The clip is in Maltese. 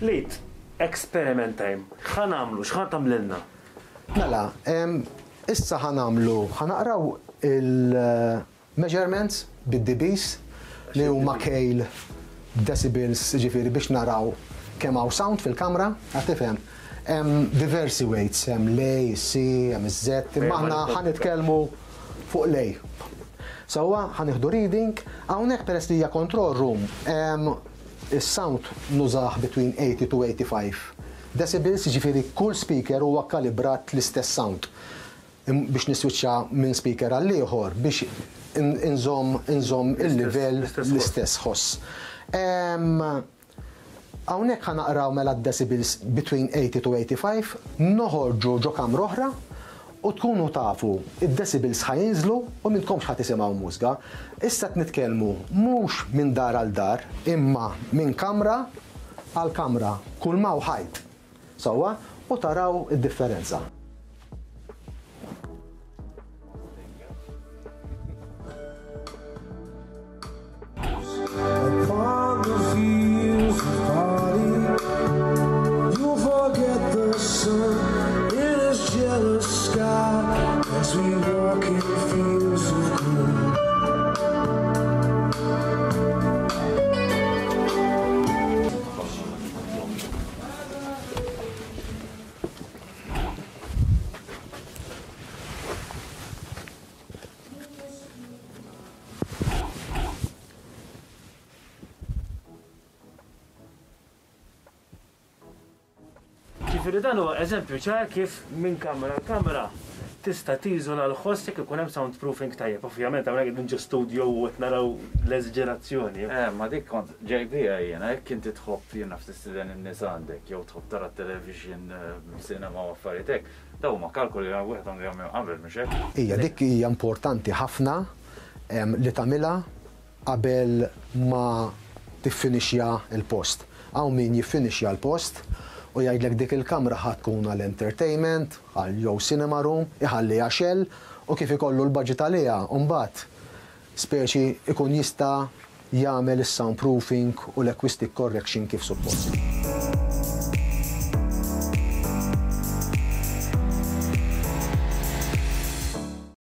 Lit, experiment time. X'ħa nagħmlu? X'ħa tagħmlilna? Mela, issa ħa nagħmlu, ħa naqraw il-measurements bid-dBs li huma kejl decibels, jiġifieri biex naraw kemm hawn sound fil-kamra, qed tifhem? Hemm diversi weights, hemm l-A, is-C, hemm iż-Z, imma aħna ħa nitkellmu fuq l-A. Sewwa, ħa nieħdu reading, hawnhekk peress li hija control room, is-sound nużah between 80 to 85 decibels, jiġifieri kull speaker huwa kkalibrat l-istess sound. Biex niswiċċa minn speaker għal ieħor biex inżomm inżomm il-livell l-istess ħoss. Hawnhekk ħa naqraw mela d-decibels between 80 to 85, noħorġu ġo kamra oħra u tkunu tafu d-decibels ħa jinżlu u m'intkomx ħa tisimgħu mużga. Issa qed nitkellmu mhux minn dar għal dar imma minn kamra għal kamra, kull m'hawn ħajt. Sewwa? U taraw id-differenza. Ġifieri dan huwa eżempju ċar kif minn kamra għal kamra tista' tiżola l-ħoss jekk ikun hemm soundproofing tajjeb. Ovvjament hawnhekk qegħdin ġo studio u qed naraw l-eżġerazzjoni. Eh, ma dik kont ġej biha jiena, jekk inti tħobb jien naf tistieden in-nies għandek jew tħobb tara t-television, cinema u affarijiet hekk, dawn huma kalkoli li wieħed għandu jagħmilhom qabel mhux hekk? Hija dik hija importanti ħafna li tagħmilha qabel ma tiffinixja l-post. Hawn min jiffinixja l-post u jgħidlek dik il-kamra ħa tkun għal entertainment, għal jew cinema room, iħalliha shell u kif ikollu l-budget għaliha mbagħad speċi ikun jista' jagħmel is-soundproofing u l-acoustic correction kif suppost.